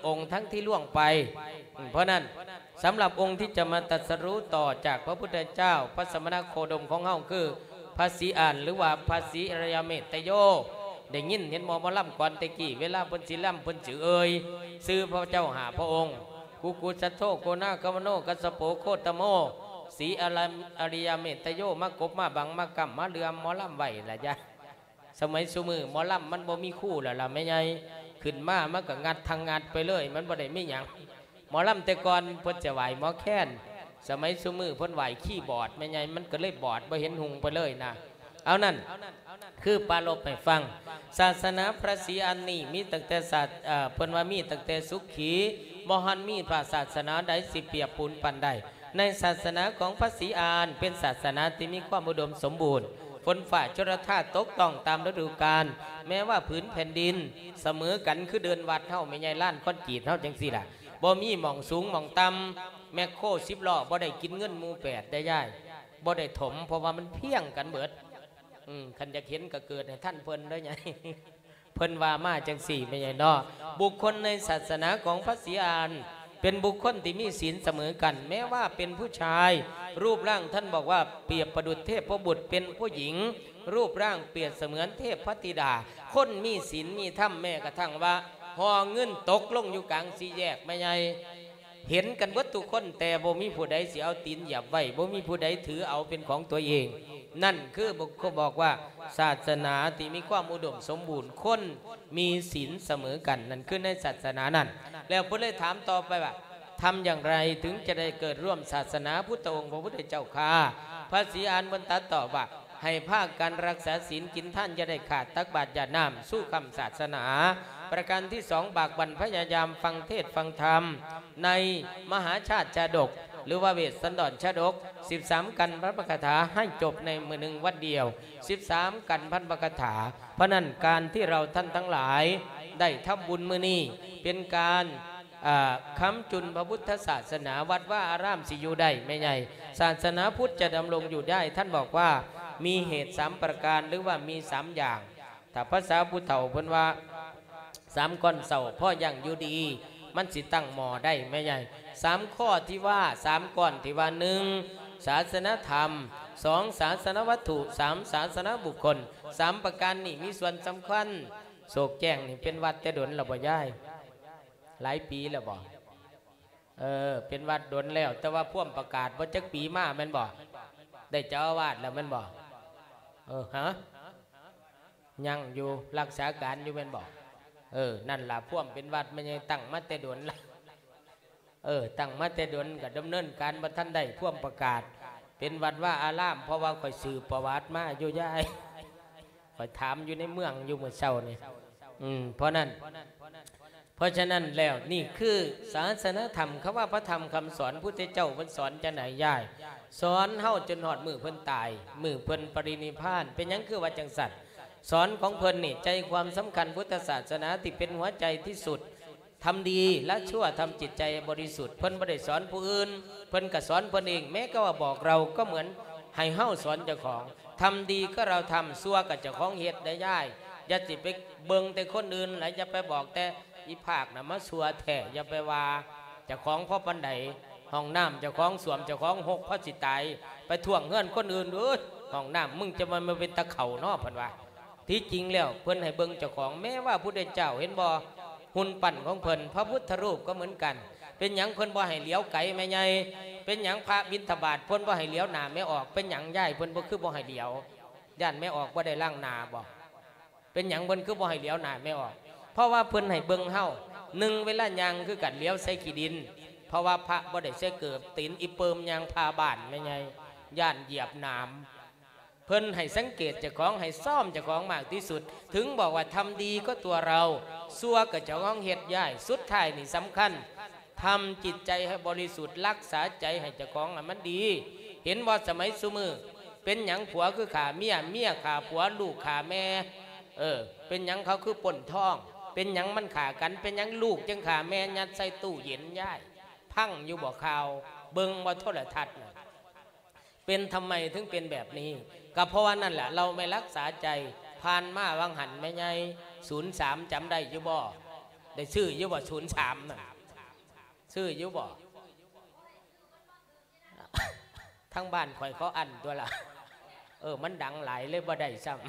ອົງທັງທີ່ລ່ວງໄປ. ເພາະນັ້ນ ສຳລັບອົງທີ່ຈະມາຕັດສະຮູ້ຕໍ່ຈາກພະພຸດທະເຈົ້າ ພະສະມະນະໂຄດົມຂອງເຮົາ ຄືພະສີອານ ຫຼືວ່າພະສີອະລິຍະເມດຕະໂຍ. ໄດ້ຍິນເຫັນບໍ່ ໝໍລຳກ່ອນແຕ່ກີ້ ເວລາເພິ່ນຊິລຳ ເພິ່ນຊິເອີ່ຍຊື່ພະເຈົ້າຫ້າພະອົງ ກຸກຸສະໂທ ໂກນາຄະມະໂນ ກັດສະໂປ ໂຄຕະໂມ ສີອະລິຍະເມດຕະໂຍ ມາກົບມາບັງມາກຳມາເຫຼືອມໝໍລຳໄວ້ລະຈ້າ. ສະໄໝຊຸມື້ໝໍລຳມັນບໍ່ມີຄູແລ້ວລະແມ່ໃຫຍ່ ຂຶ້ນມາມັນກໍງັດທັງງັດໄປເລີຍ ມັນບໍ່ໄດ້ມີຫຍັງ. ໝໍລຳແຕ່ກ່ອນເພິ່ນຈະໄຫວ້ໝໍແຄນ ສະໄໝຊຸມື້ເພິ່ນໄຫວ້ຄີບອດແມ່ໃຫຍ່ ມັນກໍເລີຍບອດ ບໍ່ເຫັນຮຸ່ງໄປເລີຍນະ. ເອົານັ້ນ ຄືປາລົບໃຫ້ຟັງ ສາສະໜາພະສີອານນີ້ມີຕັ້ງແຕ່ສາດ ເອີ ເພິ່ນວ່າມີຕັ້ງແຕ່ສຸຂີ ບໍ່ທັນມີພະສາສະໜາໃດຊິປຽບປູນປານໄດ້. ໃນສາສະໜາຂອງພະສີອານ ເປັນສາສະໜາທີ່ມີຄວາມອຸດົມສົມບູນ, ຝົນຟ້າຊົນລະທານຕົກຕ້ອງຕາມລະດູການ, ແມ້ວ່າຜືນແຜ່ນດິນສະເໝີກັນ ຄືເດີ່ນວັດເຮົາ ແມ່ໃຫຍ່ ລານຄອນກຣີດເຮົາຈັ່ງຊີ້ລະ ບໍ່ມີໝ່ອງສູງໝ່ອງຕ່ຳ, ແມັກໂຄສິບລໍ້ບໍ່ໄດ້ກິນເງິນໝູ່ແປດໄດ້ຍາຍ ບໍ່ໄດ້ຖົມ ເພາະວ່າມັນພຽງກັນເບິດ. ອືມ ຄັນຢາກເຫັນກໍເກີດໃຫ້ທັນເພິ່ນເດີຍາຍ. ເພິ່ນວ່າມາຈັ່ງຊີ້ແມ່ໃຫຍ່ເນາະ. ບຸກຄົນໃນສາສະໜາຂອງພະສີອານ ເປັນບຸກຄົນທີ່ມີສິນສະເໝີກັນ, ແມ້ວ່າເປັນຜູ້ຊາຍ ຮູບຮ່າງທ່ານບອກວ່າປຽບປະດຸດເທບພະບຸດ, ເປັນຜູ້ຍິງ ຮູບຮ່າງປຽບສະເໝືອນເທບພະທິດາ. ຄົນມີສິນມີທຳ ແມ້ກະທັ່ງວ່າຫໍ່ເງິນຕົກລົງຢູ່ກາງສີ່ແຍກແມ່ໃຫຍ່ ເຫັນກັນເບິດທຸກຄົນ ແຕ່ບໍ່ມີຜູ້ໃດຊິເອົາຕີນຢຽບໄວ້, ບໍ່ມີຜູ້ໃດຖືເອົາເປັນຂອງຕົວເອງ. ນັ້ນຄືບອກວ່າສາສະໜາທີ່ມີຄວາມອຸດົມສົມບູນ, ຄົນມີສິນສະເໝີກັນ, ນັ້ນຄືໃນສາສະໜານັ້ນ. ແລ້ວເພິ່ນເລີຍຖາມຕໍ່ໄປວ່າ ທຳຢ່າງໃດເຖິງຈະໄດ້ເກີດຮ່ວມສາສະໜາພຸດທະອົງພະພຸດທະເຈົ້າຂ້າ? ພະສີອານເພິ່ນຕັດຕອບວ່າ ໃຫ້ພາກັນຮັກສາສິນກິນທານ ຢ່າໄດ້ຂາດ ຕັກບາດຢາດນ້ຳ ສູ້ຄ້ຳສາສະໜາ. ປະການທີສອງ ບາກບັ່ນພະຍາຍາມຟັງເທດຟັງທຳ ໃນມະຫາຊາດຊາດົກ ຫຼືວ່າເວດສັນດອນຊາດົກ ສິບສາມກັນພັນພະຄາຖາ ໃຫ້ຈົບໃນມື້ໜຶ່ງວັນດຽວ ສິບສາມກັນພັນພະຄາຖາ. ເພາະນັ້ນ ການທີ່ເຮົາທ່ານທັງຫຼາຍໄດ້ທຳບຸນມື້ນີ້ ເປັນການ ເອີ ຄ້ຳຈຸນພະພຸດທະສາສະໜາ, ວັດວາອາຣາມຊິຢູ່ໄດ້ແມ່ໃຫຍ່. ສາສະໜາພຸດຈະດຳລົງຢູ່ໄດ້ ທ່ານບອກວ່າມີເຫດສາມປະການ ຫຼືວ່າມີສາມຢ່າງ. ຖ້າພາສາຜູ້ເຖົ້າເພິ່ນວ່າ ສາມກ້ອນເສົ້າພໍຢ່າງຢູ່ດີ ມັນຊິຕັ້ງໝໍ້ໄດ້ແມ່ໃຫຍ່. ສາມຂໍ້ທີ່ວ່າ ສາມກ້ອນທີ່ວ່າ ໜຶ່ງ ສາສະນະທຳ, ສອງ ສາສະນະວັດຖຸ, ສາມ ສາສະນະບຸກຄົນ. ສາມປະການນີ້ມີສ່ວນສຳຄັນ. ໂສກແຈ້ງນີ້ເປັນວັດແຕ່ດົນແລ້ວບໍ່ຍາຍ? ຫຼາຍປີແລ້ວບໍ່? ເອີ ເປັນວັດດົນແລ້ວ ແຕ່ວ່າພວມປະກາດບໍ່ຈັກປີມາແມ່ນບໍ່? ໄດ້ເຈົ້າອາວາດແລ້ວແມ່ນບໍ່? ເອີ ຮະ? ຍັງຢູ່ ຮັກສາການຢູ່ແມ່ນບໍ່? ເອີ ນັ້ນລະ ພວມເປັນວັດແມ່ນຍັງຕັ້ງມາແຕ່ດົນລະ. ເອີ ຕັ້ງມາແຕ່ດົນກໍດຳເນີນການບໍ່ທັນໄດ້ພວມປະກາດເປັນວັດວາອາຣາມ ເພາະວ່າຂ້ອຍສືບປະຫວັດມາຢູ່ຍາຍ. ຂ້ອຍຖາມຢູ່ໃນເມືອງຢູ່ມື້ເຊົ້ານີ້. ອືມ ເພາະນັ້ນ ເພາະສະນັ້ນແລ້ວ ນີ້ຄືສາສະນະທຳ ຄຳວ່າພະທຳຄຳສອນ ພຸດທະເຈົ້າເພິ່ນສອນຈັ່ງໃດຍາຍ? ສອນເຮົາຈົນຮອດມື້ເພິ່ນຕາຍ ມື້ເພິ່ນປະລິນິບພານ. ເປັນຫຍັງຄືວ່າຈັ່ງຊັ້ນ? ສອນຂອງເພິ່ນນີ້ ໃຈຄວາມສຳຄັນພຸດທະສາສະໜາທີ່ເປັນຫົວໃຈທີ່ສຸດ ທຳດີລະຊົ່ວ ທຳຈິດໃຈໃຫ້ບໍລິສຸດ. ເພິ່ນບໍ່ໄດ້ສອນຜູ້ອື່ນ ເພິ່ນກໍສອນເພິ່ນເອງ. ແມ້ກະວ່າບອກເລົ່າກໍເໝືອນໃຫ້ເຮົາສອນເຈົ້າຂອງ. ທຳດີກໍເຮົາທຳ ຊົ່ວກໍເຈົ້າຂອງເຮັດໄດ້ຍາຍ. ຢ່າຊິໄປເບິ່ງແຕ່ຄົນອື່ນ ແລະຢ່າໄປບອກແຕ່ອີພາກນະມາຊົ່ວແທ້. ຢ່າໄປວ່າເຈົ້າຂອງພໍປານໃດ. ຫ້ອງນ້ຳເຈົ້າຂອງ ສ້ວມເຈົ້າຂອງ ຮົກພໍຊິຕາຍ ໄປຖ້ວງເຮືອນຄົນອື່ນ. ເອີຍ ຫ້ອງນ້ຳມຶງຈະມາ ມາເປັນຕາເຂົ້າເນາະ ເພິ່ນວ່າ. ທີ່ຈິງແລ້ວເພິ່ນໃຫ້ເບິ່ງເຈົ້າຂອງ. ແມ້ວ່າພຸດທະເຈົ້າ ເຫັນບໍ່ ຮຸ່ນປັ້ນຂອງເພິ່ນ ພະພຸດທະຮູບກໍເໝືອນກັນ. ເປັນຫຍັງເພິ່ນບໍ່ໃຫ້ຫຼຽວໄກແມ່ໃຫຍ່? ເປັນຫຍັງພະບິນທະບາດເພິ່ນບໍ່ໃຫ້ຫຼຽວໜ້າແມ່ອອກ? ເປັນຫຍັງຍາຍ ເພິ່ນບໍ່ ຄືບໍ່ໃຫ້ຫຼຽວ? ຢ້ານແມ່ອອກບໍ່ໄດ້ລ້າງໜ້າບໍ່? ເປັນຫຍັງເພິ່ນຄືບໍ່ໃຫ້ຫຼຽວໜ້າແມ່ອອກ? ເພາະວ່າເພິ່ນໃຫ້ເບິ່ງເຮົາ ໜຶ່ງ ເວລາຍ່າງຄືກັນ ຫຼຽວໃສ່ຂີ້ດິນ ເພາະວ່າພະບໍ່ໄດ້ໃສ່ເກີບ ຕີນອີເປີມຍ່າງຜ່າບ້ານແມ່ໃຫຍ່ ຢ້ານຢຽບໜາມ. ເພິ່ນໃຫ້ສັງເກດເຈົ້າຂອງ ໃຫ້ຊ້ອມເຈົ້າຂອງມາກທີ່ສຸດ. ເຖິງບອກວ່າທຳດີກໍຕົວເຮົາ ຊົ່ວກໍເຈົ້າຂອງເຮັດຍາຍ. ສຸດທ້າຍນີ້ສຳຄັນ ທຳຈິດໃຈໃຫ້ບໍລິສຸດ ຮັກສາໃຈໃຫ້ເຈົ້າຂອງໃຫ້ມັນດີ. ເຫັນບໍ່ ສະໄໝຊຸມື້ ເປັນຫຍັງຜົວຄືຂ້າເມຍ ເມຍຂ້າຜົວ ລູກຂ້າແມ່? ເອີ ເປັນຫຍັງເຂົາຄືປົ້ນທອງ? ເປັນຫຍັງມັນຂ້າກັນ? ເປັນຫຍັງລູກຈຶ່ງຂ້າແມ່ ຍັດໃສ່ຕູ້ເຢັນຍາຍ? ຟັງຢູ່ບໍ່ຂ່າວ? ເບິ່ງບໍ່ໂທລະທັດນະ? ເປັນ ທຳໄມເຖິງເປັນແບບນີ້? ກໍເພາະວ່ານັ້ນແຫຼະ ເຮົາໄມ່ຮັກສາໃຈ. ຜ່ານມາຫວ່າງຫັ້ນແມ່ໃຫຍ່ ສູນສາມ ຈຳໄດ້ຢູ່ບໍ່? ໄດ້ຊື້ຢູ່ບໍ່ ສູນສາມນັ້ນ ຊື້ຢູ່ບໍ່? ທາງບ້ານຂ້ອຍເຂົາອັ້ນຕົວລະ ເອີ ມັນດັງຫຼາຍເລີຍບໍ່ໄດ້ຊ້ຳ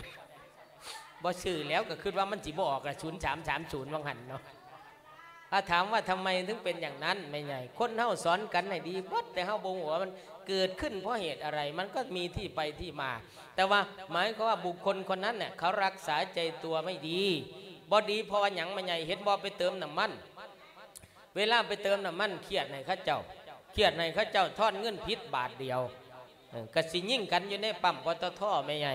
ບໍ່ຊື້ແລ້ວ ກໍຄິດວ່າມັນຊິບໍ່ອອກລະ ສູນສາມສາມສູນ ວ່າງຫັ້ນເນາະ. ຖ້າຖາມວ່າທຳໄມເຖິງເປັນຢ່າງນັ້ນ ແມ່ໃຫຍ່ ຄົນເຮົາສອນກັນໃຫ້ດີເບິດ ແຕ່ເຮົາບໍ່ຮູ້ວ່າມັນເກີດຂຶ້ນເພາະເຫດອະໄລ ມັນກໍມີທີ່ໄປທີ່ມາ. ແຕ່ວ່າໝາຍຄວາມວ່າບຸກຄົນຄົນນັ້ນເນ່ຍ ເຂົາຮັກສາໃຈຕົວໄມ່ດີ ບໍ່ດີເພາະວ່າຫຍັງ ແມ່ໃຫຍ່ ເຫັນບໍ່ ໄປເຕີມນ້ຳມັນ ເວລາໄປເຕີມນ້ຳມັນ ຄຽດໃຫ້ເຂົາເຈົ້າ ຄຽດໃຫ້ເຂົາເຈົ້າທອນເງິນຜິດບາດດຽວ ເອີ ກໍຊິຍິງກັນຢູ່ໃນປ້ຳ ປຕທ ແມ່ໃຫຍ່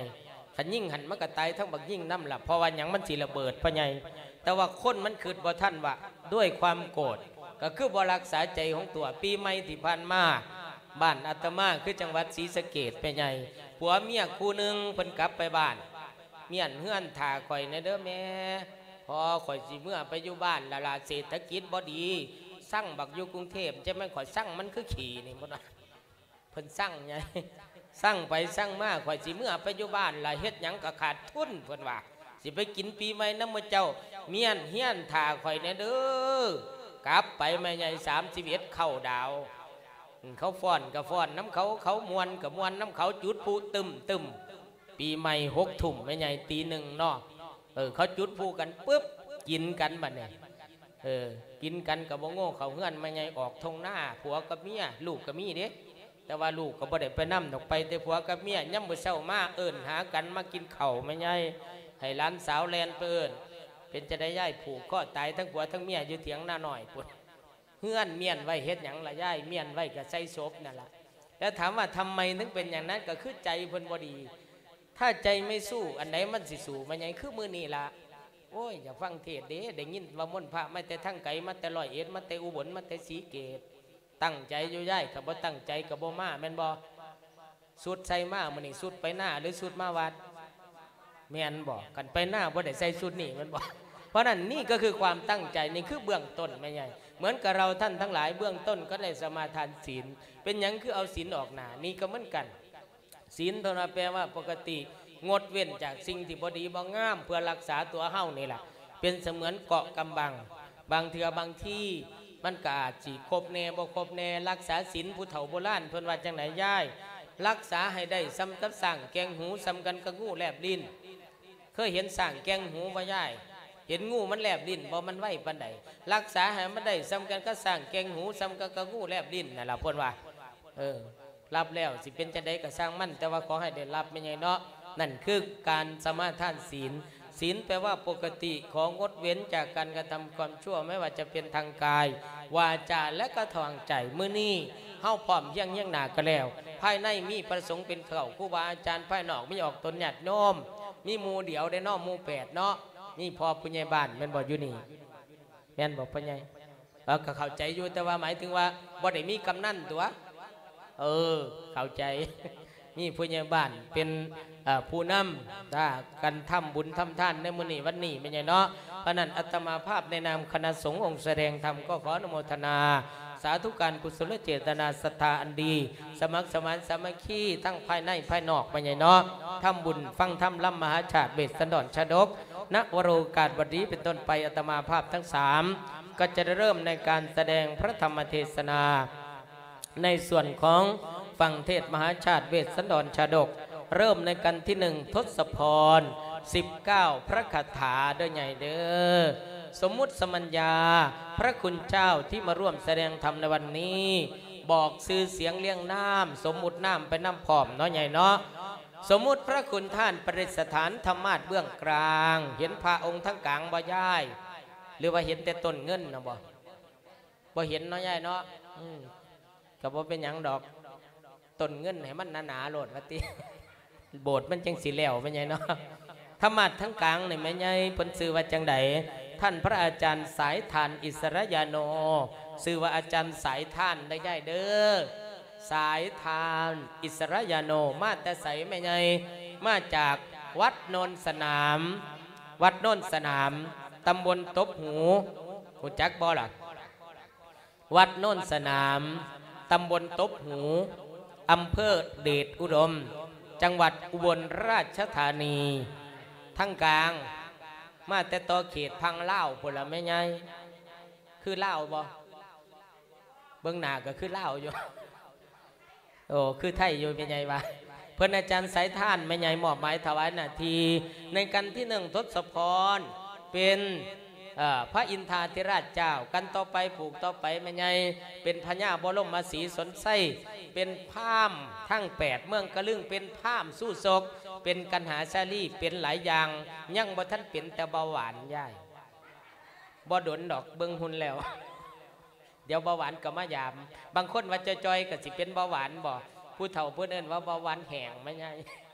ຄັນຍິງຫັ້ນມັນກໍຕາຍທັງບັກຍິງນຳລະ ເພາະວ່າຫຍັງ ມັນຊິລະເບີດ ພໍ່ໃຫຍ່. ແຕ່ວ່າຄົນມັນຄິດບໍ່ທັນວ່າ ດ້ວຍຄວາມໂກດ ກໍຄືບໍ່ຮັກສາໃຈຂອງຕົວ. ປີໃໝ່ທີ່ຜ່ານມາ ບ້ານອາດຕະມາ ຄືຈັງຫວັດສີສະເກດ ແມ່ໃຫຍ່ ຜົວເມຍຄູ່ໜຶ່ງເພິ່ນກັບໄປບ້ານ ມ້ຽນເຮືອນຖ້າຂ້ອຍແດ່ເດີແມ່ ພໍຂ້ອຍຊິເມືອໄປຢູ່ບ້ານລະລະ ເສດຖະກິດບໍ່ດີ ຊັງບັກຢູ່ກຸງເທບ ຈະແມ່ນຂ້ອຍຊັງມັນຄືຂີ້ນີ້ ເພິ່ນວ່າ ເພິ່ນຊັງໃຫຍ່ ຊັງໄປຊັງມາ ຂ້ອຍຊິເມືອໄປຢູ່ບ້ານລະ ເຮັດຫຍັງກໍຂາດທຶນ ເພິ່ນວ່າ ຊິໄປກິນປີໃໝ່ນຳໝູ່ເຈົ້າ ມ້ຽນເຮືອນຖ້າຂ້ອຍແດ່ເດີ. ກັບໄປແມ່ໃຫຍ່ ສາມສິບເອັດເຂົ້າດາວ ເຂົາຟ້ອນກໍຟ້ອນນຳເຂົາ ເຂົາມ່ວນກໍມ່ວນນຳເຂົາ ຈຸດພລຸຕຶ້ມໆ ປີໃໝ່ຫົກທຸ່ມ ແມ່ໃຫຍ່ຕີໜຶ່ງເນາະ ເອີ ເຂົາຈຸດພລຸກັນປຶບ ກິນກັນບັດນີ້ ເອີ ກິນກັນກໍບໍ່ໂງ່ເຂົ້າເຮືອນ ແມ່ໃຫຍ່ອອກທົ່ງນາ ຜົວກັບເມຍ ລູກກໍມີເດ້ ແຕ່ວ່າລູກກໍບໍ່ໄດ້ໄປນຳດອກ ໄປແຕ່ຜົວກັບເມຍ. ຍາມມື້ເຊົ້າມາເອີ້ນຫາກັນມາກິນເຂົ້າ ແມ່ໃຫຍ່ ໃຫ້ຫຼານສາວແລ່ນໄປເອີ້ນ ເປັນຈັ່ງໃດຍາຍ ຜູກຄໍຕາຍທັງຜົວທັງເມຍຢູ່ຖຽງນານ້ອຍພຸ້ນ. ເຮືອນມ້ຽນໄວ້ເຮັດຫຍັງລະຍາຍ? ມ້ຽນໄວ້ກໍໃສ່ສົບນັ້ນລະ. ແລ້ວຖາມວ່າທຳໄມເຖິງເປັນຢ່າງນັ້ນ? ກໍຄືໃຈເພິ່ນບໍ່ດີ. ຖ້າใจไม่สู้ ອັນໃດມັນຊິສູ້ມາໃຫຍ່? ຄືມື້ນີ້ລະ ໂອ້ຍ ຢາກຟັງເທດເດ້ ໄດ້ຍິນວ່າມົນພະມາແຕ່ທາງໄກ ມາແຕ່ຮ້ອຍເອັດ ມາແຕ່ອຸບົນ ມາແຕ່ສີເກດ. ຕັ້ງໃຈຢູ່ຍາຍ ຄັນບໍ່ຕັ້ງໃຈກໍບໍ່ມາ ແມ່ນບໍ່? ຊຸດໃສ່ມາມື້ນີ້ ຊຸດໄປນາ ຫຼື ຊຸດມາວັດ? ແມ່ນບໍ່? ຄັນໄປນາບໍ່ໄດ້ໃສ່ຊຸດນີ້ແມ່ນບໍ່? ເພາະນັ້ນ ນີ້ກໍຄືຄວາມຕັ້ງໃຈ ນີ້ຄືເບື້ອງຕົ້ນແມ່ໃຫຍ່. ເໝືອນກັບເຮົາທ່ານທັງຫຼາຍ ເບື້ອງຕົ້ນກໍໄດ້ສະມາທານສິນ. ເປັນຫຍັງຄືເອົາສິນອອກໜ້າ? ນີ້ກໍເໝືອນກັນ. ສິນເພິ່ນວ່າແປວ່າປົກກະຕິ ງົດເວັ້ນຈາກສິ່ງທີ່ບໍ່ດີບໍ່ງາມ ເພື່ອຮັກສາຕົວເຮົານີ້ລະ. ເປັນສະເໝືອນເກາະກຳບັງ. ບາງເທື່ອບາງທີ ມັນກໍອາດຊິຄົບແດ່ບໍ່ຄົບແດ່. ຮັກສາສິນ ຜູ້ເຖົ້າໂບລານເພິ່ນວ່າຈັ່ງໃດຍາຍ? ຮັກສາໃຫ້ໄດ້ສ່ຳກັບຊ້າງແກ່ງຫູ ສ່ຳກັນກັບງູແລບລີ້ນ. ເຄີຍເຫັນຊ້າງແກ່ງຫູບໍ່ຍາຍ? ເຫັນງູມັນແລບລີ້ນບໍ່? ມັນໄວປານໃດ? ຮັກສາໃຫ້ມັນໄດ້ສ່ຳກັນກັບຊ້າງແກ່ງຫູ ສ່ຳກັນກັບງູແລບລີ້ນນັ້ນລະ ເພິ່ນວ່າ. ເອີ ຮັບແລ້ວຊິເປັນຈັ່ງໃດກໍຊ່າງມັນ ແຕ່ວ່າຂໍໃຫ້ໄດ້ຮັບ ແມ່ໃຫຍ່ເນາະ. ນັ້ນຄືການສະມາທານສິນ. ສິນແປວ່າປົກກະຕິ ຂໍງົດເວັ້ນຈາກການກະທຳຄວາມຊົ່ວ ແມ່ວ່າຈະເປັນທາງກາຍ ວາຈາ ແລະ ກະທາງໃຈ. ມື້ນີ້ເຮົາພ້ອມພຽງຮຽງໜ້າກັນແລ້ວ. ພາຍໃນມີພະສົງເປັນເຄົ້າ ຄູບາອາຈານ, ພາຍນອກມີອອກຕົນຍາດໂຍມ, ມີໝູ່ດຽວເດ້ເນາະ, ໝູ່ແປດເນາະ, ມີພໍ່ຜູ້ໃຫຍ່ບ້ານແມ່ນບໍ່ຢູ່ນີ້? ແມ່ນບໍ່ພໍ່ໃຫຍ່? ເອີ ກໍເຂົ້າໃຈຢູ່ ແຕ່ວ່າໝາຍເຖິງວ່າບໍ່ໄດ້ມີກຳນັນຕົວະ. ເອີ ເຂົ້າໃຈ. ມີຜູ້ໃຫຍ່ບ້ານເປັນ ເອີ ຜູ້ນຳ ຖ້າກັນທຳບຸນທຳທານໃນມື້ນີ້ວັນນີ້ແມ່ນຫຍັງເນາະ. ເພາະນັ້ນອາດຕະມາພາບໃນນາມຄະນະສົງອົງສະແດງທຳ ກໍຂໍອະນຸໂມທະນາ ສາທຸການກຸສົນເຈດຕະນາສັດທາອັນດີ ສະໝັກສະໝານສາມັກຄີທັງພາຍໃນພາຍນອກ ແມ່ນຫຍັງເນາະ. ທຳບຸນຟັງທຳລຳມະຫາຊາດເວດສັນດອນຊາດົກ ນະວະໂລກາດບັດນີ້ເປັນຕົ້ນໄປ ອາດຕະມາພາບທັງສາມ ກໍຈະໄດ້ເລີ່ມໃນການສະແດງພະທຳມະເທສະນາ ໃນສ່ວນຂອງຟັງເທດມະຫາຊາດເວດສັນດອນຊາດົກ ເລີ່ມໃນກັນທີໜຶ່ງ ທົດສະພອນ ສິບເກົ້າ ພະຄາຖາເດີໃຫຍ່ເດີ. ສົມມຸດສະມັນຍາ ພະຄຸນເຈົ້າທີ່ມາຮ່ວມສະແດງທຳໃນວັນນີ້ ບອກຊື່ສຽງລຽງນາມ ສົມມຸດນາມໄປນຳພ້ອມເນາະໃຫຍ່ເນາະ. ສົມມຸດພະຄຸນທ່ານປະດິດສະຖານທຳມາດເບື້ອງກາງ ເຫັນພະອົງທາງກາງບໍ່ຍາຍ? ຫຼືວ່າເຫັນແຕ່ຕົ້ນເງິນນະບໍ່? ບໍ່ເຫັນເນາະຍາຍເນາະ. ອືມ ກໍບໍ່ເປັນຫຍັງດອກ ຕົ້ນເງິນໃຫ້ມັນໜາໆໂລດວ່າຕິ ໂບດມັນຈັ່ງຊິແລ້ວແມ່ໃຫຍ່ເນາະ. ທຳມາດທາງກາງນີ້ແມ່ໃຫຍ່ເພິ່ນຊື່ວ່າຈັ່ງໃດ? ທ່ານພະອາຈານສາຍທານອິດສະຣະຍາໂນ ຊື່ວ່າອາຈານສາຍທານເດີຍາຍເດີ. ສາຍທານອິດສະຣະຍາໂນ ມາແຕ່ໃສແມ່ໃຫຍ່? ມາຈາກວັດໂນນສະໜາມ ວັດໂນນສະໜາມ ຕຳບົນຕົບຫູ ຮູ້ຈັກບໍ່ລະ? ວັດໂນນສະໜາມ ຕຳບົນຕົບຫູ ອຳເພີເດດອຸດົມ ຈັງຫວັດອຸບົນລາຊະທານີ. ທາງກາງ ມາແຕ່ຕໍ່ເຂດພັງລາວພຸ້ນລະແມ່ໃຫຍ່. ຄືລາວບໍ່? ເບິ່ງໜ້າກໍຄືລາວຢູ່. ໂອ້ ຄືໄທຢູ່ແມ່ໃຫຍ່ວ່າ. ເພິ່ນອາຈານສາຍທານແມ່ໃຫຍ່ມອບໝາຍຖວາຍໜ້າທີ່ ໃນກັນທີໜຶ່ງທົດສະພອນ ເປັນ ເອີ ພະອິນທາທິລາດເຈົ້າ, ກັນຕໍ່ໄປ ຜູກຕໍ່ໄປແມ່ໃຫຍ່ ເປັນພະຍາບໍລົມມະສີສົນໄຊ, ເປັນພາມທັງແປດເມືອງກະລຶງ, ເປັນພາມສູ້ຊົກ, ເປັນກັນຫາຊາລີ, ເປັນຫຼາຍຢ່າງ, ຍັງບໍ່ທັນເປັນແຕ່ເບົາຫວານຍາຍ. ບໍ່ດົນດອກ ເບິ່ງຫຸ່ນແລ້ວ ດຽວເບົາຫວານກໍມາຢາມ. ບາງຄົນວ່າຈ່ອຍໆ ກໍຊິເປັນເບົາຫວານບໍ? ຜູ້ເຖົ້າເພິ່ນເອີ້ນວ່າເບົາຫວານແຫ້ງ ແມ່ໃຫຍ່.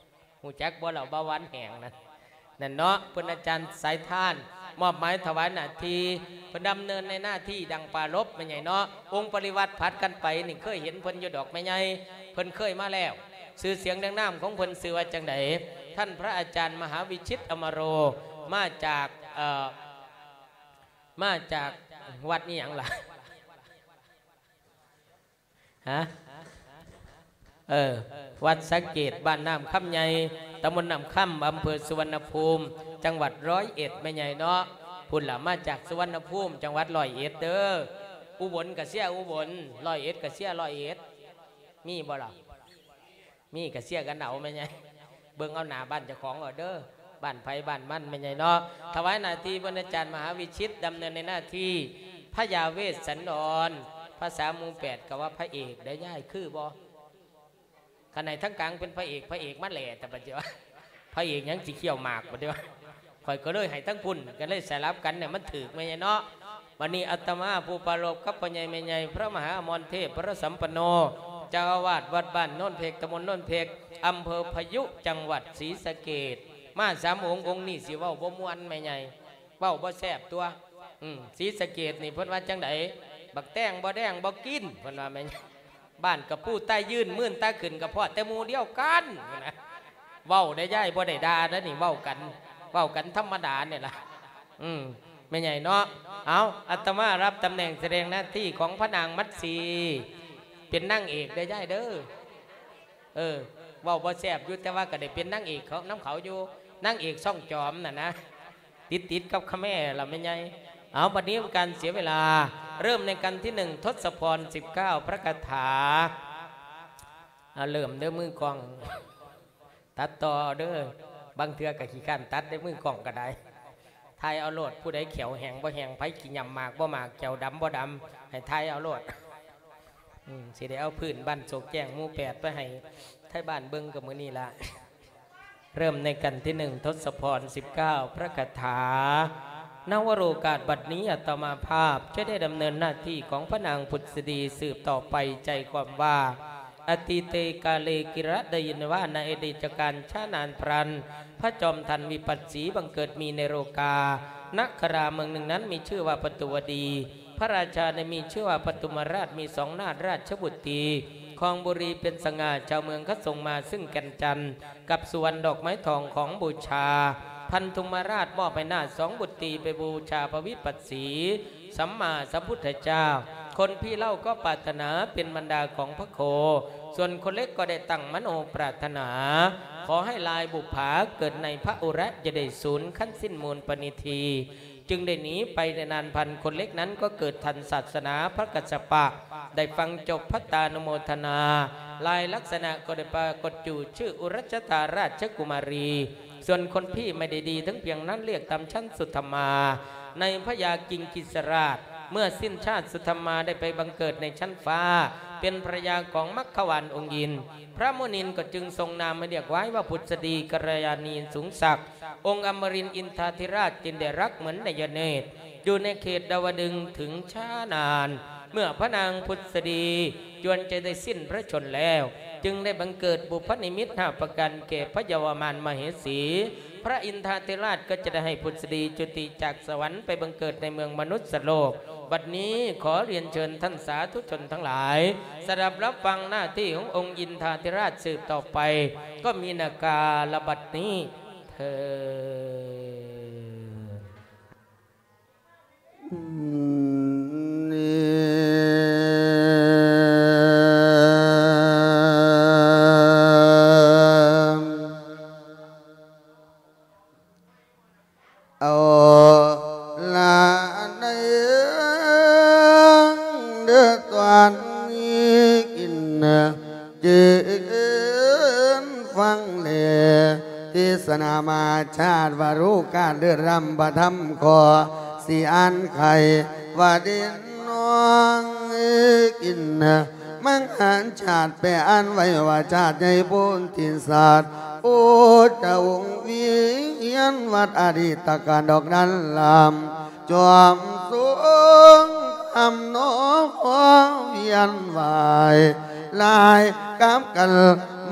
ຮູ້ຈັກບໍ່ລະເບົາຫວານແຫ້ງນັ້ນ? ນັ້ນເນາະ ເພິ່ນອາຈານສາຍທານ ມອບໝາຍຖວາຍໜ້າທີ່ ເພິ່ນດຳເນີນໃນໜ້າທີ່ດັ່ງປາລົບ ແມ່ໃຫຍ່ເນາະ. ອົງປະລິວາດຜັດກັນໄປນີ້ ເຄີຍເຫັນເພິ່ນຢູ່ດອກແມ່ໃຫຍ່ ເພິ່ນເຄີຍມາແລ້ວ. ຊື່ສຽງເລື່ອງນາມຂອງເພິ່ນຊື່ວ່າຈັ່ງໃດ? ທ່ານພະອາຈານມະຫາວິຊິດ ອຳມະໂລ ມາຈາກ ເອີ ມາຈາກວັດອີ່ຫຍັງລະ? ຮະ? ເອີ ວັດສະເກດ ບ້ານນ້ຳຄຳໃຫຍ່ ຕຳບົນນ້ຳຄຳ ອຳເພີສຸວັນນະພູມ ຈັງຫວັດຮ້ອຍເອັດ ແມ່ໃຫຍ່ເນາະ. ພຸ້ນລະ ມາຈາກສຸວັນນະພູມ ຈັງຫວັດຮ້ອຍເອັດເດີ. ອຸບົນກະເຊຍອຸບົນ, ຮ້ອຍເອັດກະເຊຍຮ້ອຍເອັດ. ມີບໍ່ລະ? ມີກະເຊຍກັນເອົາແມ່ໃຫຍ່ ເບິ່ງເອົາໜ້າບ້ານເຈົ້າຂອງເອົາເດີ ບ້ານໃຜບ້ານມັນແມ່ໃຫຍ່ເນາະ. ຖວາຍໜ້າທີ່ເພິ່ນອາຈານມະຫາວິຊິດ ດຳເນີນໃນໜ້າທີ່ພະຍາເວດສັນດອນ. ພາສາໝູ່ແປດກໍວ່າພະເອກໄດ້ຍາຍ ຄືບໍ່? ຄັນໃຫ້ທາງກາງເປັນພະເອກ ພະເອກມາແຫຼະ ແຕ່ບັດດຽວ ພະເອກຫຍັງຊິຄ້ຽວໝາກບັດດຽວ. ຂ້ອຍກໍເລີຍໃຫ້ທັງພຸ້ນ ກໍເລີຍສະຫຼັບກັນ ໃຫ້ມັນຖືກແມ່ໃຫຍ່ເນາະ. ບັດນີ້ອາດຕະມາຜູ້ປາລົບກັບພໍ່ໃຫຍ່ແມ່ໃຫຍ່ ພະມະຫາອະມອນເທບ ວະລະສຳປັນໂນ ເຈົ້າອາວາດວັດບ້ານໂນນເພັກ ຕຳບົນໂນນເພັກ ອຳເພີພະຍຸ ຈັງຫວັດສີສະເກດ ມາສາມອົງ. ອົງນີ້ຊິເວົ້າບໍ່ມ່ວນແມ່ໃຫຍ່ ເວົ້າບໍ່ແຊບຕົວະ. ອືມ ສີສະເກດນີ້ເພິ່ນວ່າຈັ່ງໃດ? ບັກແຕງບໍ່ແດງບໍ່ກິນ ເພິ່ນວ່າແມ່ນ. ບ້ານກະປູໃຕ້ຢືນ ມື່ນຕາຂຶ້ນກະພໍ້ແຕ່ໝູ່ດຽວກັນ ເວົ້າໄດ້ຍາຍ ບໍ່ໄດ້ດ່າເດ້ນີ້ ເວົ້າກັນ ເວົ້າກັນທຳມະດານີ້ລະ. ອືມ ແມ່ໃຫຍ່ເນາະ. ເອົາ ອາດຕະມາຮັບຕຳແໜ່ງສະແດງໜ້າທີ່ຂອງພະນາງມັດສີ ເປັນນາງເອກເດີຍາຍເດີ. ເອີ ເວົ້າບໍ່ແຊບຢູ່ ແຕ່ວ່າກໍໄດ້ເປັນນາງເອກເຂົາ ນຳເຂົາຢູ່ ນາງເອກຊ່ອງຈອມນັ້ນນະ ຕິດໆກັບຂະແມລະແມ່ໃຫຍ່. ເອົາ ບັດນີ້ການເສຍເວລາ ເລີ່ມໃນກັນທີໜຶ່ງ ທົດສະພອນ ສິບເກົ້າ ພະຄາຖາ. ເອົາ ເລີ່ມເດີ ມືກ້ອງ ຕັດຕໍ່ເດີ ບາງເທື່ອກໍຂີ້ຄ້ານຕັດເດ້ ມືກ້ອງກໍໄດ້ ຖ່າຍເອົາໂລດ. ຜູ້ໃດແຂ້ວແຫ້ງບໍ່ແຫ້ງ ໃຜຂີ້ຫຍ້ຳໝາກບໍ່ໝາກ ແຂ້ວດຳບໍ່ດຳ ໃຫ້ຖ່າຍເອົາໂລດ. ອືມ ຊິໄດ້ເອົາພື້ນບ້ານໂສກແຈ້ງໝູ່ແປດ ໄປໃຫ້ໄທບ້ານເບິ່ງກໍມື້ນີ້ລະ. ເລີ່ມໃນກັນທີໜຶ່ງ ທົດສະພອນ ສິບເກົ້າ ພະຄາຖາ. ນະວະໂລກາດບັດນີ້ ອາດຕະມາພາບຈະໄດ້ດຳເນີນໜ້າທີ່ຂອງພະນາງພຸດສະດີສືບຕໍ່ໄປ ໃຈຄວາມວ່າ ອະຕີເຕກາເລ ກິລະໄດຍະວາ ໃນອະດີດການຊ້ານານພະລັນ ພະຈອມທັນວິປັດສີບັງເກີດມີໃນໂລກາ. ນະຄະລາເມືອງໜຶ່ງນັ້ນມີຊື່ວ່າປະຕູວະດີ ພະລາຊາໄດ້ມີຊື່ວ່າປະທຸມມະລາດ ມີສອງນາດ ລາຊະບຸດຕີ ຄອງບຸລີເປັນສະຫງ່າ. ຊາວເມືອງເຂົາສົ່ງມາຊຶ່ງແກ່ນຈັນ ກັບສຸວັນດອກໄມ້ທອງຂອງບູຊາ. ພັນທຸມມະລາດມອບໃຫ້ນາດສອງບຸດຕີໄປບູຊາພະວິປັດສີ ສຳມາສຳພຸດທະເຈົ້າ. ຄົນພີ່ເລົ່າກໍປາດຖະໜາເປັນບັນດາຂອງພະໂຄ, ສ່ວນຄົນເລັກກໍໄດ້ຕັ້ງມະໂນປຣາດຖະໜາ ຂໍໃຫ້ລາຍບຸບຜາເກີດໃນພະອຸຣະ ຈະໄດ້ສູນຄັນສິ້ນມູນປະນິທີ, ຈຶ່ງໄດ້ໜີໄປໄດ້ນານພັນ. ຄົນເລັກນັ້ນກໍເກີດທັນສາສະໜາພະກັດສະປະ, ໄດ້ຟັງຈົບພັດຕານຸໂມທະນາ. ລາຍລັກສະນະກໍໄດ້ປາກົດຢູ່ຊື່ອຸຣັດຊະຕາລາຊະກຸມາຣີ. ສ່ວນຄົນພີ່ໄມ່ໄດ້ດີເຖິງພຽງນັ້ນ, ລຽກຕາມຊັ້ນສຸທຳມາ ໃນພະຍາກິງກິສະລາດ. ເມື່ອສິ້ນຊາດ, ສຸທຳມາໄດ້ໄປບັງເກີດໃນຊັ້ນຟ້າ ເປັນພະລະຍາຂອງມັກຄະວານອົງອິນ. ພະມຸນິນກໍຈຶ່ງຊົງນາມໃຫ້ລຽກຫວາຍວ່າພຸດສະດີກັນລະຍານີສູງສັກ. ອົງອຳມະລິນອິນທາທິລາດຈຶ່ງໄດ້ລັກເໝືອນໄດຍະເນດ ຢູ່ໃນເຂດດາວະດຶງເຖິງຊ້ານານ. ເມື່ອພະນາງພຸດສະດີຈວນຈະໄດ້ສິ້ນພະຊົນແລ້ວ, ຈຶ່ງໄດ້ບັງເກີດບຸບພະນິມິດຫ້າປະການແກ່ພະເຍົາວະມານມະເຫສີ. ພະອິນທາທິລາດກໍຈະໄດ້ໃຫ້ພຸດສະດີຈຸຕິຈາກສະຫວັນໄປບັງເກີດໃນເມືອງມະນຸດສະໂລກ. ບັດນີ້ຂໍລຽນເຊີນທ່ານສາທຸຊົນທັງຫຼາຍ ສະດັບຮັບຟັງໜ້າທີ່ຂອງອົງອິນທາທິລາດສືບຕໍ່ໄປ ກໍມີນາກາລະບັດນີ້ເທີ້ນ. ເດີຕອນນີ້ກິນເຈີນຟັງແລ ເທດສະນາມະຫາຊາດ ວ່າຮູ້ການເດີດຣຳພະທຳ ຂໍຊິອ່ານໄຂວ່າເດນນ້ອງກິນ ມັງຫານຊາດແປອ່ານໄວ້ວ່າ ຊາດໃຫຍ່ໂພນທິສັດ ໂອດຕະວົງວຽນວັດອະດີດຕະການດອກນັ້ນລຳ ຈອມຊົງທຳນອງວຽນວາຍ ລາຍກັບກັນ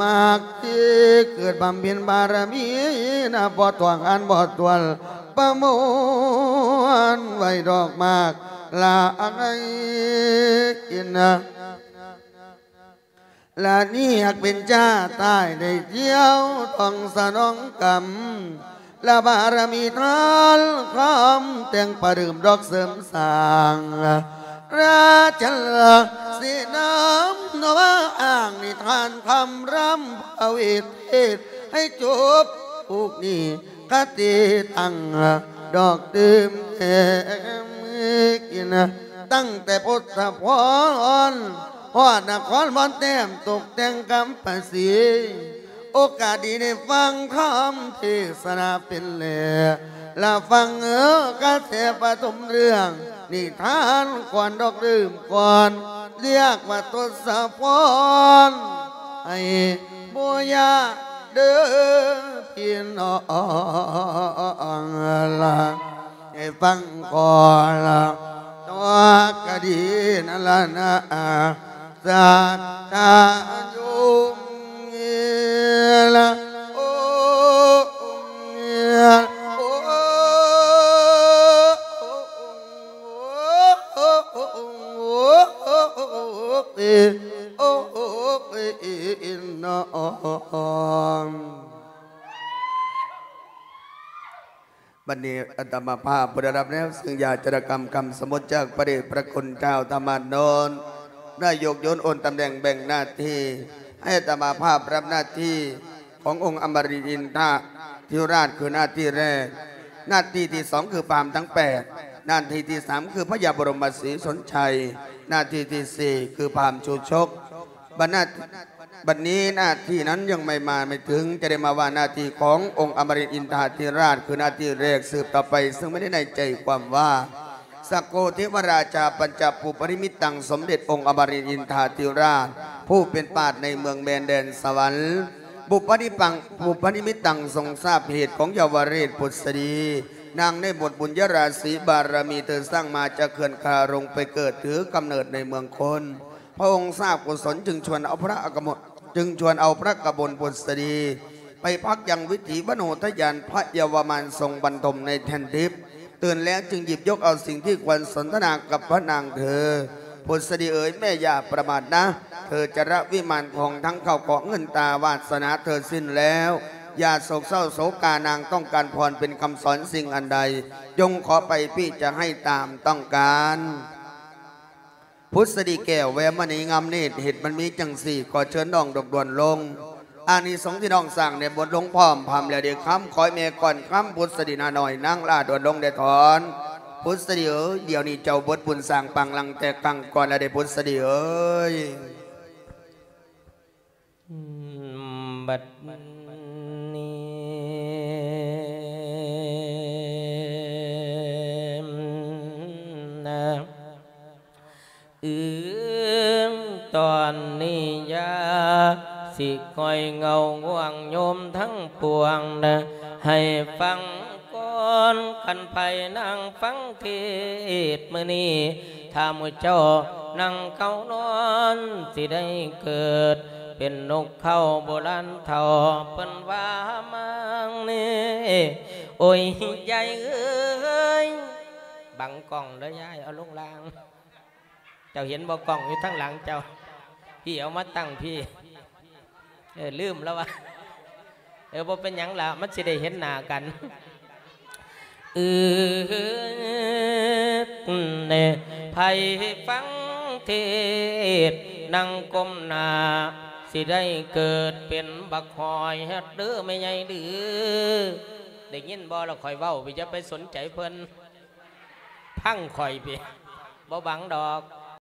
ມາກທີ່ເກີດບຳເພັນບາລະມີນະ ບໍ່ຖ້ວງອັນບໍ່ຖ້ວນປະມວນໄວ້ດອກມາກຫຼາຍກິນນະ ລະນີ້ຫາກເປັນຈາຕາຍໄດ້ທ່ຽວທ່ອງສະໜອງກຳ ລະບາລະມີທານຄຳແຕ່ງປະເດີມດອກເສີມສ້າງ ລາຊະລາເສນາມນະວ່າອ້າງນິທານຄຳລຳພະເວດເທດໃຫ້ຈົບ ຜູ້ນີ້ຄະຕິຕັ້ງດອກຕື່ມແຕ່ງກິນ ຕັ້ງແຕ່ພຸດທະພອນ ຮອດນະຄອນວອນແຕ້ມຕົກແຕ່ງກຳປະສີ ໂອກາດດີໄດ້ຟັງຄຳເທດສະນາເປັນແລ ລະຟັງເອີກະແສປະຖົມເລື່ອງນິທານກ່ອນດອກເລີ່ມກ່ອນ ລຽກວ່າທົດສະພອນ ໃຫ້ບໍ່ຍາກເດີພີ່ນ້ອງລະ ໃຫ້ຟັງກ່ອນລະ ຕົວກະດີນັ້ນລະນະ ສາທາໂຍມເອລະ ໂອ ໂອ ໂອ ໂອ ເອ ໂອ ເອ ເອ ເອ ນອງ. ບັດນີ້ອາດຕະມາພາບຜູ້ໄດ້ຮັບແນວເຊິ່ງຢາຈະລະກຳຄຳສະໝຸດຈາກພະເດດພະຄຸນເຈົ້າທຳມານນນ ໄດ້ຍົກໂຍນໂອນຕຳແໜ່ງແບ່ງໜ້າທີ່ ໃຫ້ອາດຕະມາພາບຮັບໜ້າທີ່ຂອງອົງອະມະລິນອິນທະທິລາດ ຄືໜ້າທີ່ແລກ, ໜ້າທີ່ທີສອງຄືພາມທັງແປດ, ໜ້າທີ່ທີສາມຄືພະຍາບໍລົມມະສີສົນໄຊ, ໜ້າທີ່ທີສີ່ຄືພາມຊູຊົກ. ບັດໜ້າ ບັດນີ້ໜ້າທີ່ນັ້ນຍັງໄມ່ມາໄມ່ເຖິງ ຈະໄດ້ມາວ່າໜ້າທີ່ຂອງອົງອະມະລິນອິນທາທິລາດ ຄືໜ້າທີ່ແລກ. ສືບຕໍ່ໄປ ເຊິ່ງແມ່ນໃນໃຈຄວາມວ່າ ສັກໂກເທວະລາຊາປັນຈະປຸບປະນິມິດຕັງ ສົມເດັດອົງອະມະລິນອິນທາທິລາດ ຜູ້ເປັນປາດໃນເມືອງແມ່ນແດນສະຫວັນ ປຸບປະນິປັງ ປຸບປະນິມິດຕັງ ຊົງຊາບເຫດຂອງເຍົາວະເລດພຸດສະດີ ນາງໄດ້ໝົດບຸນຍະລາສີບາລະມີ ເທີສ້າງມາຈາກເຂື່ອນຄາລົງໄປເກີດຖືກຳເນີດໃນເມືອງຄົນ. ພະອົງຊາບກຸສົນຈຶ່ງຊວນເອົາພະອາກະມົນ ຈຶ່ງຊວນເອົາພະກະມົນພຸດສະດີ ໄປພັກຍັງວິຖີມະໂນທະຍານພະເຍົາວະມານຊົງບັນທົມໃນແທ່ນທິບ. ຕື່ນແລ້ວຈຶ່ງຫຍິບຍົກເອົາສິ່ງທີ່ຄວນສົນທະນາກັບພະນາງເທີ. ພຸດສະດີເອີຍ ແມ່ຢ່າປະມາດນະ, ເທີຈະລະວິມານຂອງທັງເຂົ້າຂອງເງິນຕາວາດສະໜາເທີສິ້ນແລ້ວ. ຢ່າໂສກເສົ້າໂສກາ, ນາງຕ້ອງການພອນເປັນຄຳສອນສິ່ງອັນໃດ, ຈົ່ງຂໍໄປ, ພີ່ຈະໃຫ້ຕາມຕ້ອງການ. ພຸດສະດີແກ້ວແວວມະນີງາມນິດ ເຫດມັນມີຈັ່ງຊີ້ ຂໍເຊີນນ້ອງດອກດ່ວນລົງ. ອານິສົງທີ່ນ້ອງສ້າງໄດ້ບົດລົງພ້ອມພຳແລ້ວເດຄຳ ຂໍໃຫ້ແມ່ກ່ອນຄຳ ພຸດສະດີໜ້ານ້ອຍນາງຫຼ້າດ່ວນລົງແດ່ຖອນ. ພຸດສະດີເອີຍ ດຽວນີ້ເຈົ້າເບິດບຸນສ້າງປາງຫຼັງແຕ່ຄັ້ງກ່ອນແລ້ວເດ ພຸດສະດີເອີຍ. ບັດນີ້ນະ ອືມ ຕອນນີ້ຢ່າຊິຄ່ອຍເງົາງ່ວງໂຍມທັງປວງນະ ໃຫ້ຟັງ ກ່ອນ ຄັນໃຜນັ່ງຟັງເທດມື້ນີ້ ຖ້າໝູ່ເຈົ້ານັ່ງເຂົ້ານອນ ຊິໄດ້ເກີດເປັນນົກເຂົາໂບລານເຖົ້າ ເພິ່ນວ່າມາງນີ້ ໂອ້ຍ ຍາຍເອີຍ ບັງກ້ອງເດີຍາຍ ເອົາລົງລ່າງ. ເຈົ້າເຫັນບໍ່ ກ້ອງຢູ່ທາງຫຼັງເຈົ້າ ພີ່ເອົາມາຕັ້ງພີ້ ເອີ ລືມແລ້ວວ່າ ເອີ ບໍ່ເປັນຫຍັງລະ ມັນຊິໄດ້ເຫັນໜ້າກັນ ອື ເອີ ໃຜຟັງເທດນັ່ງກົ້ມໜ້າ ຊິໄດ້ເກີດເປັນບັກຫອຍເດີແມ່ໃຫຍ່ເດີ ໄດ້ຍິນບໍ່ລະ ຂ້ອຍເວົ້າ ຢ່າໄປສົນໃຈເພິ່ນ ຟັງຂ້ອຍພີ້ ບໍ່ບັງດອກ